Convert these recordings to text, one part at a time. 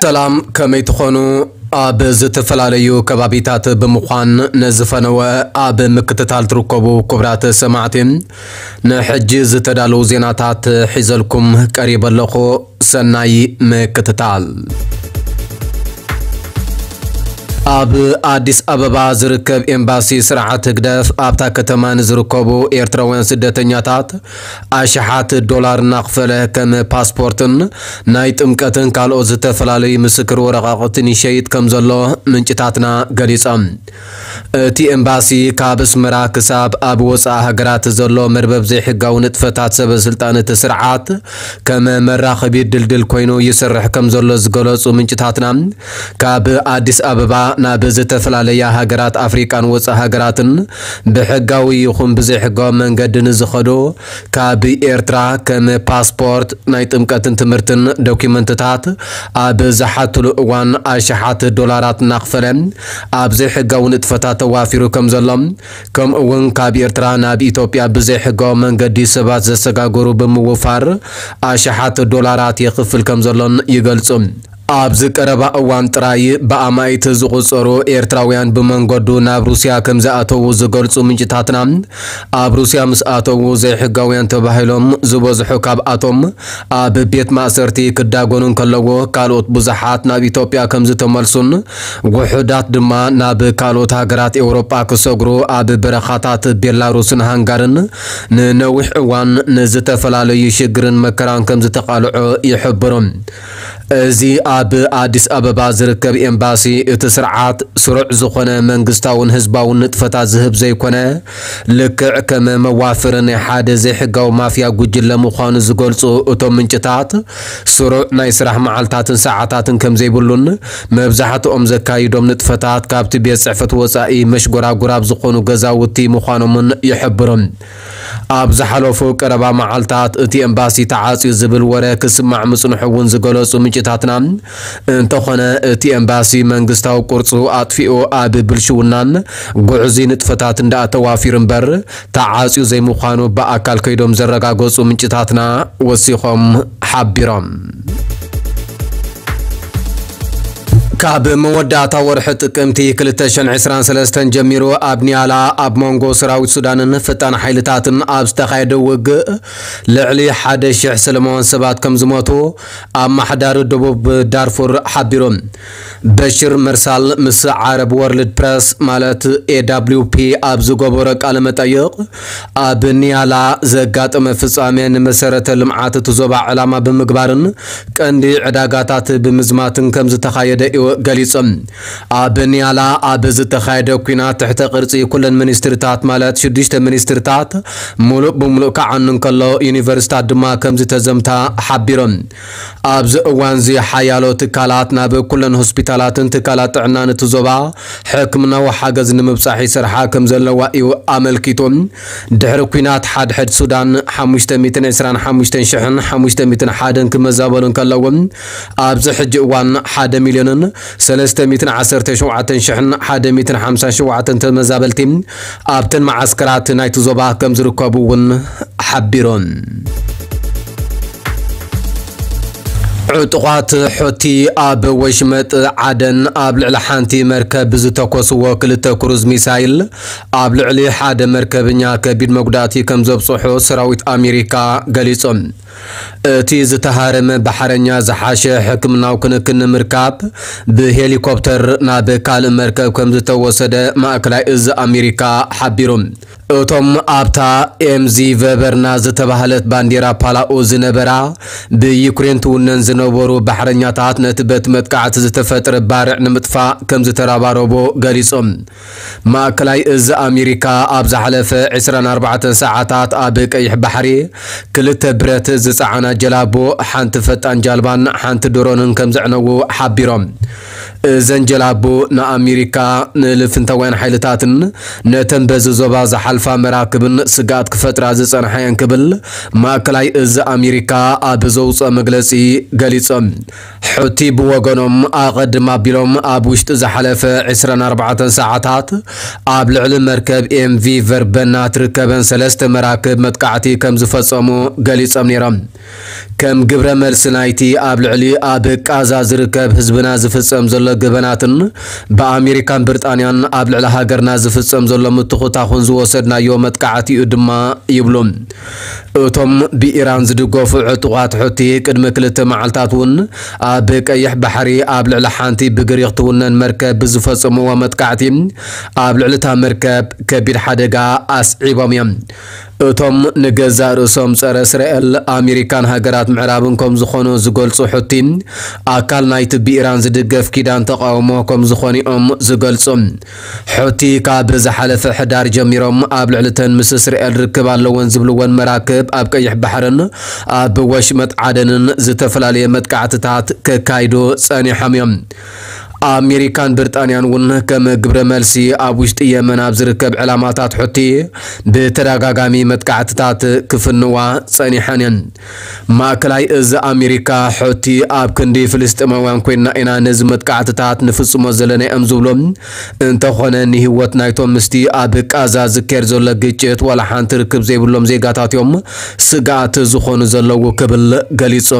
ሰላም፣ ከመይ ትኾኑ? ኣብ ዝተፈላለዩ ከባቢታት ብምዃን ነዚ ፈነወ ኣብ ምክትታል ትርከቡ ክቡራት ሰማዕቲ፣ ንሕጂ ዝተዳለዉ ዜናታት ሒዘልኩም ቀሪበ ኣለኹ። ሰናይ ምክትታል። ኣብ ኣዲስ ኣበባ ዝርከብ ኤምባሲ ስርዓት ህግደፍ ኣብታ ከተማ ንዝርከቡ ኤርትራውያን ስደተኛታት ኣሽሓት ዶላር እናኽፈለ ከም ፓስፖርትን ናይ ጥምቀትን ካልኦት ዝተፈላለዩ ምስክር ወረቓቕትን ይሸይጥ ከም ዘሎ ምንጭታትና ገሊጾም። እቲ ኤምባሲ ካብ ኣስመራ ክሳብ ኣብ ወጻኢ ሃገራት ዘሎ መርበብ ዘይሕጋዊ ንጥፈታት ሰበ ስልጣን እቲ ስርዓት ከም መራኸቢ ድልድል ኮይኑ ይሰርሕ ከም ዘሎ ዝገለጹ ምንጭታትና፣ ካብ ኣዲስ ኣበባ ናብ ዝተፈላለያ ሃገራት ኣፍሪቃን ወጻኢ ሃገራትን ብሕጋዊ ይኹን ብዘይሕጋዊ መንገዲ ንዝኸዱ፣ ካብ ኤርትራ ከም ፓስፖርት፣ ናይ ጥምቀትን ትምህርትን ዶኪመንትታት ኣብ ዝሓትሉ እዋን ኣሽሓት ዶላራት እናኽፈለ ኣብ ዘይሕጋዊ ንጥፈታት ተዋፊሩ ከም ዘሎ፣ ከምኡ እውን ካብ ኤርትራ ናብ ኢትዮጵያ ብዘይሕጋዊ መንገዲ ሰባት ዘሰጋግሩ ብምውፋር ኣሽሓት ዶላራት የኽፍል ከም ዘሎን ይገልጹ። ኣብዚ ቀረባ እዋን ጥራይ ብኣማኢት ዝቑጸሩ ኤርትራውያን ብመንገዱ ናብ ሩስያ ከም ዝኣተዉ ዝገልጹ ምንጭታትና፣ ኣብ ሩስያ ምስ ኣተዉ ዘይሕጋውያን ተባሂሎም ዝበዝሑ ካብኣቶም ኣብ ቤት ማእሰርቲ ክዳጎኑ እንከለዉ፣ ካልኦት ብዙሓት ናብ ኢትዮጵያ ከም ዝተመልሱን ውሑዳት ድማ ናብ ካልኦት ሃገራት ኤውሮጳ ክሰግሩ ኣብ በረኻታት ቤላሩስን ሃንጋርን ንነዊሕ እዋን ንዝተፈላለዩ ሽግርን መከራን ከም ዝተቓልዑ ይሕብሩ። እዚ ኣብ ኣዲስ ኣበባ ዝርከብ ኤምባሲ፣ እቲ ስርዓት ስሩዕ ዝኾነ መንግስታውን ህዝባውን ንጥፈታት ዝህብ ዘይኮነ፣ ልክዕ ከም መዋፍሪ ናይ ሓደ ዘይሕጋዊ ማፍያ ጉጅለ ምዃኑ ዝገልጹ እቶም ምንጭታት፣ ስሩዕ ናይ ስራሕ መዓልታትን ሰዓታትን ከም ዘይብሉን፣ መብዛሕትኦም ዘካይዶም ንጥፈታት ካብቲ ቤት ጽሕፈት ወጻኢ መሽጎራጉር ኣብ ዝኾኑ ገዛውቲ ምዃኖምን ይሕብሩ። ኣብ ዝሓለፉ ቀረባ መዓልታት እቲ ኤምባሲ ተዓጽዩ ዝብል ወረ ክስማዕ ምጽንሑ እውን ዝገለጹ ምንጭታትና፣ እንተኾነ እቲ ኤምባሲ መንግስታዊ ቅርጹ ኣጥፊኡ ኣብ ብልሽውናን ጉዕዙይ ንጥፈታት እንዳኣተዋፊሩ እምበር ተዓጽዩ ዘይምዃኑ ብኣካል ከይዶም ዘረጋገጹ ምንጭታትና ወሲኾም ሓቢሮም። ካብ መወዳእታ ወርሒ ጥቅምቲ ክልተ ሽሕን ዕስራን ሰለስተን ጀሚሩ ኣብ ኒያላ ኣብ መንጎ ሰራዊት ሱዳንን ፈጣን ሓይልታትን ኣብ ዝተኻየደ ውግእ ልዕሊ ሓደ ሽሕ ሰለማውያን ሰባት ከም ዝሞቱ ኣመሓዳሪ ደቡብ ዳርፉር ሓቢሩ። በሽር መርሳል ምስ ዓረብ ወርልድ ፕረስ ማለት ኤ ዳብሊው ፒ ኣብ ዝገበሮ ቃለ መጠይቕ፣ ኣብ ኒያላ ዘጋጠመ ፍጻሜ ንመሰረተ ልምዓት እቲ ዞባ ዕላማ ብምግባርን ቀንዲ ዕዳጋታት ብምዝማትን ከም ዝተኻየደ እዩ ገሊጹ። ኣብ ኒያላ ኣብ ዝተኻየደ ኲናት ትሕተ ቅርጺ ኩለን ሚኒስትሪታት ማለት ሽዱሽተ ሚኒስትሪታት ምሉእ ብምሉእ ክዓኑ እንከሎ፣ ዩኒቨርሲታት ድማ ከም ዝተዘምታ ሓቢሮም። ኣብዚ እዋንዚ ሓያሎ ትካላት ናብ ኩለን ሆስፒታላትን ትካላት ጥዕናን እቲ ዞባ ሕክምናዊ ሓገዝ ንምብጻሕ ይሰርሓ ከም ዘለዋ እዩ ኣመልኪቱ። ድሕሪ ኲናት ሓድሕድ ሱዳን ሓሙሽተ ሚእትን ዕስራን ሓሙሽተን ሽሕን ሓሙሽተ ሚእትን ሓደን ክመዛበሉ እንከለዉ፣ ኣብዚ ሕጂ እዋን ሓደ ሚልዮንን ሰለስተ ሚእትን ዓሰርተ ሸውዓተን ሽሕን ሓደ ሚእትን ሓምሳን ሸውዓተን ተመዛበልቲ ኣብተን መዓስከራት ናይቲ ዞባ ከም ዝርከቡ እውን ሓቢሮም። ዕጡቓት ሑቲ ኣብ ወሽመጥ ዓደን ኣብ ልዕሊ ሓንቲ መርከብ ብዝተኮስዎ ክልተ ክሩዝ ሚሳይል ኣብ ልዕሊ ሓደ መርከበኛ ከቢድ መጉዳእቲ ከም ዘብጽሑ ሰራዊት ኣሜሪካ ገሊጾም። እቲ ዝተሃረመ ባሕረኛ ዝሓሸ ሕክምናዊ ክንክን ንምርካብ ብሄሊኮፕተር ናብ ካልእ መርከብ ከም ዝተወሰደ ማእከላይ እዝ ኣሜሪካ ሓቢሩ። እቶም ኣብታ ኤምዚ ቨበርና ዝተባህለት ባንዲራ ፓላኡ ዝነበራ ብዩክሬን ትውነን ዝነበሩ ባሕረኛታት ነቲ በቲ መጥቃዕቲ ዝተፈጥረ ባርዕ ንምጥፋእ ከም ዝተረባረቡ ገሊጾም። ማእከላይ እዝ ኣሜሪካ ኣብ ዝሓለፈ ዕስራን ኣርባዕተን ሰዓታት ኣብ ቀይሕ ባሕሪ ክልተ ብረት ዝጸዓና ጀላቡ፣ ሓንቲ ፈጣን ጃልባን ሓንቲ ድሮንን ከም ዘዕነዉ ሓቢሮም። እዘን ጀላቡ ንኣሜሪካ፣ ንልፍንታውያን ሓይልታትን ነተን በዚ ዞባ ዝሓልፋ ዝሓልፋ መራክብን ስግኣት ክፈጥራ ዝጸንሓ እየን ክብል ማእከላይ እዚ ኣሜሪካ ኣብ ዘውፅኦ መግለፂ ገሊጾም። ሑቲ ብወገኖም ኣቐድም ኣቢሎም ኣብ ውሽጢ ዝሓለፈ ዕስራን ኣርባዕተን ሰዓታት ኣብ ልዕሊ መርከብ ኤምቪ ቨርበና ትርከበን ሰለስተ መራክብ መጥቃዕቲ ከም ዝፈጸሙ ገሊጾም ነይሮም። ከም ግብረ መልሲ ናይቲ ኣብ ልዕሊ ኣብ ቃዛ ዝርከብ ህዝብና ዝፍጸም ዘሎ ገበናትን ብኣሜሪካን ብሪጣንያን ኣብ ልዕሊ ሃገርና ዝፍጸም ዘሎ ምትኹታኹን ዝወሰድናዮ መጥቃዕቲ እዩ ድማ ይብሉ። እቶም ብኢራን ዝድገፉ ዕጡቓት ሑቲ ቅድሚ ክልተ መዓልታት እውን ኣብ ቀይሕ ባሕሪ ኣብ ልዕሊ ሓንቲ ብግሪኽ ትውነን መርከብ ብዝፈጸምዎ መጥቃዕቲ ኣብ ልዕሊ እታ መርከብ ከቢድ ሓደጋ ኣስዒቦም እዮም። እቶም ንገዛእ ርእሶም ጸረ እስራኤል ኣሜሪካን ሃገራት ምዕራብን ከም ዝኾኑ ዝገልጹ ሑቲ ኣካል ናይቲ ብኢራን ዝድገፍ ኪዳን ተቃውሞ ከም ዝኾኑ እዮም ዝገልጹ። ሑቲ ካብ ዝሓለፈ ሕዳር ጀሚሮም ኣብ ልዕሊ እተን ምስ እስራኤል ርክብ ኣለወን ዝብልወን መራክብ ኣብ ቀይሕ ባሕርን ኣብ ወሽመጥ ዓደንን ዝተፈላለየ መጥቃዕትታት ከካይዱ ጸኒሖም እዮም። ኣሜሪካን ብሪጣንያን እውን ከም ግብረ መልሲ ኣብ ውሽጢ የመን ኣብ ዝርከብ ዕላማታት ሑቲ ብተደጋጋሚ መጥቃዕትታት ክፍንዋ ጸኒሐን እየን። ማእከላይ እዚ ኣሜሪካ ሑቲ ኣብ ክንዲ ፍልስጤማውያን ኮይንና ኢና ነዚ መጥቃዕትታት ንፍጽሞ ዘለና እዮም ዝብሎ እንተኾነ ንህይወት ናይቶም ምስቲ ኣብ ቃዛ ዝካየድ ዘሎ ግጭት ዋላ ሓንቲ ርክብ ዘይብሎም ዜጋታት እዮም ስግኣት ዝኾኑ ዘለዉ ክብል ገሊጹ።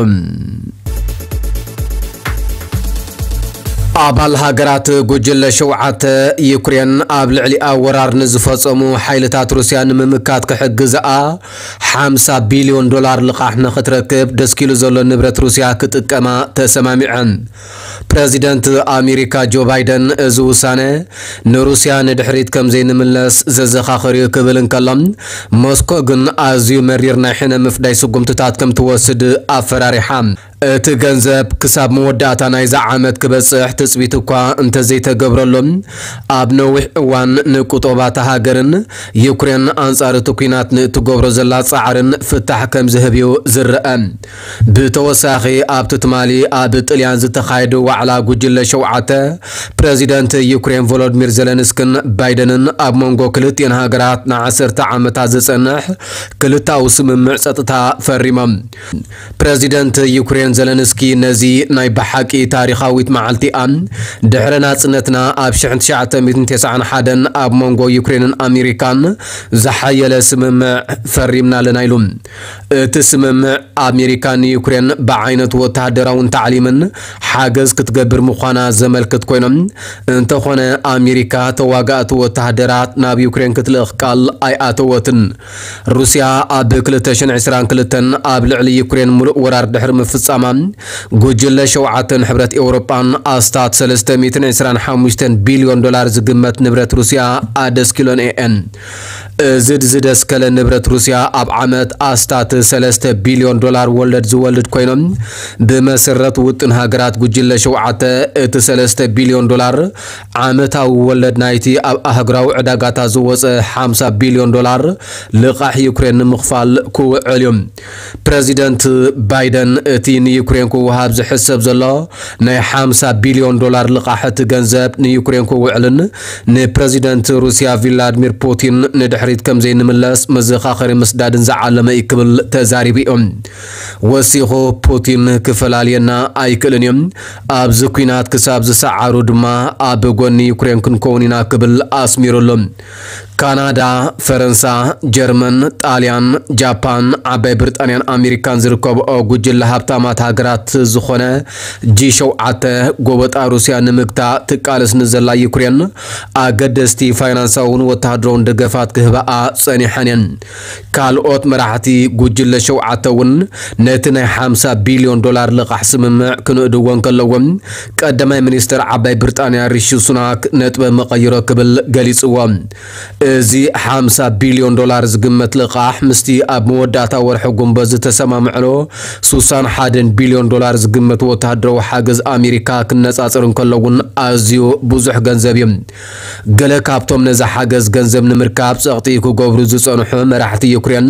ኣባል ሃገራት ጉጅለ ሸውዓተ ዩክሬን ኣብ ልዕሊኣ ወራር ንዝፈጸሙ ሓይልታት ሩስያ ንምምካት ክሕግዝኣ ሓምሳ ቢልዮን ዶላር ልቓሕ ንኽትረክብ ደስኪሉ ዘሎ ንብረት ሩስያ ክጥቀማ ተሰማሚዐን። ፕረዚደንት ኣሜሪካ ጆ ባይደን እዚ ውሳነ ንሩስያ ንድሕሪት ከም ዘይንምለስ ዘዘኻኽር እዩ ክብል እንከሎ፣ ሞስኮ ግን ኣዝዩ መሪር ናይ ሕነ ምፍዳይ ስጉምትታት ከም ትወስድ ኣፈራሪሓ። እቲ ገንዘብ ክሳብ መወዳእታ ናይዛ ዓመት ክበጽሕ ትጽቢት እኳ እንተዘይተገብረሉ፣ ኣብ ነዊሕ እዋን ንቁጠባታ ሃገርን ዩክሬን ኣንጻር እቲ ኲናት ንእትገብሮ ዘላ ጻዕርን ፍታሕ ከም ዝህብ እዩ ዝረአ። ብተወሳኺ ኣብቲ ትማሊ ኣብ ጥልያን ዝተኻየደ ዋዕላ ጉጅለ ሸውዓተ ፕረዚደንት ዩክሬን ቮሎዲሚር ዜለንስክን ባይደንን ኣብ መንጎ ክልቲኤን ሃገራት ንዓሰርተ ዓመታት ዝጸንሕ ክልታዊ ስምምዕ ጸጥታ ፈሪሞም። ፕረዚደንት ዩክሬን ዘለንስኪ ነዚ ናይ ብሓቂ ታሪኻዊት መዓልቲኣ ድሕሪ ናጽነትና ኣብ ሽሕን ትሽዓተ ሚእትን ተስዓን ሓደን ኣብ መንጎ ዩክሬንን ኣሜሪካን ዝሓየለ ስምምዕ ፈሪምና ኣለና ኢሉ። እቲ ስምምዕ ኣሜሪካ ንዩክሬን ብዓይነቱ ወተሃደራውን ታዕሊምን ሓገዝ ክትገብር ምዃና ዘመልክት ኮይኖም፣ እንተኾነ ኣሜሪካ ተዋጋእቲ ወተሃደራት ናብ ዩክሬን ክትልእኽ ቃል ኣይኣተወትን። ሩስያ ኣብ ክልተ ሽሕን ዕስራን ክልተን ኣብ ልዕሊ ዩክሬን ሙሉእ ወራር ድሕሪ ምፍጻማ፣ ጉጅለ ሸውዓተን ሕብረት ኤውሮጳን ኣስታት ሰለስተ ሚእትን ዕስራን ሓሙሽተን ቢልዮን ዶላር ዝግመት ንብረት ሩስያ ኣደስኪሎን እየን። እዚ ዝደስከለ ንብረት ሩስያ ኣብ ዓመት ኣስታት ሰለስተ ቢልዮን ዶላር ወለድ ዝወልድ ኮይኖም፣ ብመሰረት ውጥን ሃገራት ጉጅለ ሸውዓተ እቲ ሰለስተ ቢልዮን ዶላር ዓመታዊ ወለድ ናይቲ ኣብ ኣህጉራዊ ዕዳጋታት ዝወጸ ሓምሳ ቢልዮን ዶላር ልቓሕ ዩክሬን ንምኽፋል ክውዕል እዩ። ፕረዚደንት ባይደን እቲ ንዩክሬን ክወሃብ ዝሕሰብ ዘሎ ናይ ሓምሳ ቢልዮን ዶላር ልቓሕ እቲ ገንዘብ ንዩክሬን ክውዕልን ንፕረዚደንት ሩስያ ቪላድሚር ፑቲን ንድሕሪት ከም ዘይንምለስ መዘኻኸሪ ምስዳድን ዝዓለመ እዩ ክብል ተዛሪቡ እዩ። ወሲኹ ፑቲን ክፈላልየና ኣይክእልን እዩ። ኣብዚ ኲናት ክሳብ ዝሰዓሩ ድማ ኣብ ጎኒ ዩክሬን ክንከውን ኢና ክብል ኣስሚሩሉ። ካናዳ፣ ፈረንሳ፣ ጀርመን፣ ጣልያን፣ ጃፓን፣ ዓባይ ብሪጣንያን ኣሜሪካን ዝርከብኦ ጉጅለ ሃብታማት ሃገራት ዝኾነ ጂ ሸውዓተ ጎበጣ ሩስያ ንምግታእ ትቃለስ ንዘላ ዩክሬን ኣገደስቲ ፋይናንሳውን ወተሃደራውን ደገፋት ክህባኣ ጸኒሐን እየን። ካልኦት መራሕቲ ጉጅለ ሸውዓተ እውን ነቲ ናይ ሓምሳ ቢልዮን ዶላር ልቓሕ ስምምዕ ክንእድዎ እንከለዎም፣ ቀዳማይ ሚኒስትር ዓባይ ብሪጣንያ ሪሺ ሱናክ ነጥበ መቐይሮ ክብል ገሊጽዎ። እዚ ሓምሳ ቢልዮን ዶላር ዝግመት ልቓሕ ምስቲ ኣብ መወዳእታ ወርሒ ጉንበት ዝተሰማምዕሎ ሱሳን ሓደን ቢልዮን ዶላር ዝግመት ወተሃደራዊ ሓገዝ ኣሜሪካ ክነጻጸር እንከሎ እውን ኣዝዩ ብዙሕ ገንዘብ እዩ። ገለ ካብቶም ነዚ ሓገዝ ገንዘብ ንምርካብ ጸቕጢ ክገብሩ ዝጸንሑ መራሕቲ ዩክሬን፣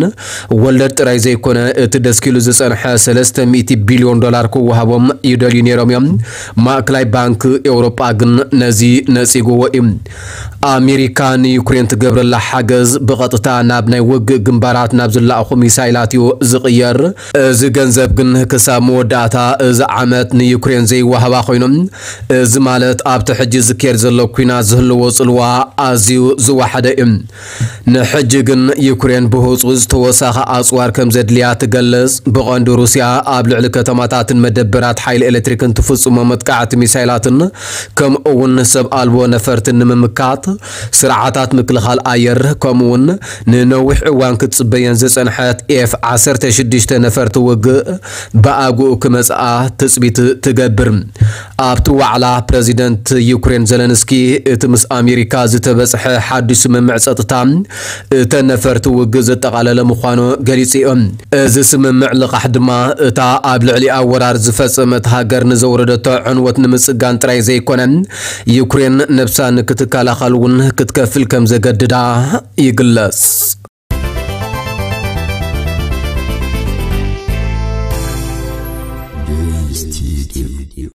ወለድ ጥራይ ዘይኮነ እቲ ደስኪሉ ዝጸንሐ ሰለስተ ሚእቲ ቢልዮን ዶላር ክወሃቦም ይደልዩ ነይሮም እዮም። ማእከላይ ባንክ ኤውሮጳ ግን ነዚ ነጺግዎ እዩ። ኣሜሪካ ንዩክሬን ዝገብረላ ሓገዝ ብቐጥታ ናብ ናይ ውግእ ግንባራት ናብ ዝለኣኹ ሚሳይላት እዩ ዝቕየር። እዚ ገንዘብ ግን ክሳብ መወዳእታ እዚ ዓመት ንዩክሬን ዘይወሃባ ኮይኑ፣ እዚ ማለት ኣብቲ ሕጂ ዝካየድ ዘሎ ኲናት ዝህልዎ ጽልዋ ኣዝዩ ዝወሓደ እዩ። ንሕጂ ግን ዩክሬን ብህጹጽ ተወሳኺ ኣጽዋር ከም ዘድልያ ትገልጽ። ብቐንዱ ሩስያ ኣብ ልዕሊ ከተማታትን መደበራት ሓይሊ ኤሌክትሪክን ትፍጽሞ መጥቃዕቲ ሚሳይላትን ከምኡ እውን ሰብ ኣልቦ ነፈርቲ ንምምካት ስርዓታት ምክልኻል ኣየር ከምኡ እውን ንነዊሕ እዋን ክትጽበየን ዝጸንሐት ኤፍ ዓሰርተ ሽዱሽተ ነፈርቲ ውግእ ብኣግኡ ክመጽኣ ትጽቢት ትገብር። ኣብቲ ዋዕላ ፕረዚደንት ዩክሬን ዘለንስኪ እቲ ምስ ኣሜሪካ ዝተበጽሐ ሓድሽ ስምምዕ ጸጥታ እተን ነፈርቲ ውግእ ዘጠቓለለ ምዃኑ ገሊጹ እዩ። እዚ ስምምዕ ልቓሕ ድማ እታ ኣብ ልዕሊኣ ወራር ዝፈጸመት ሃገር ንዘውረደቶ ዕንወት ንምጽጋን ጥራይ ዘይኮነ፣ ዩክሬን ነብሳ ንክትከላኸል እውን ክትከፍል ከም ዘገድዳ ይግለጽ።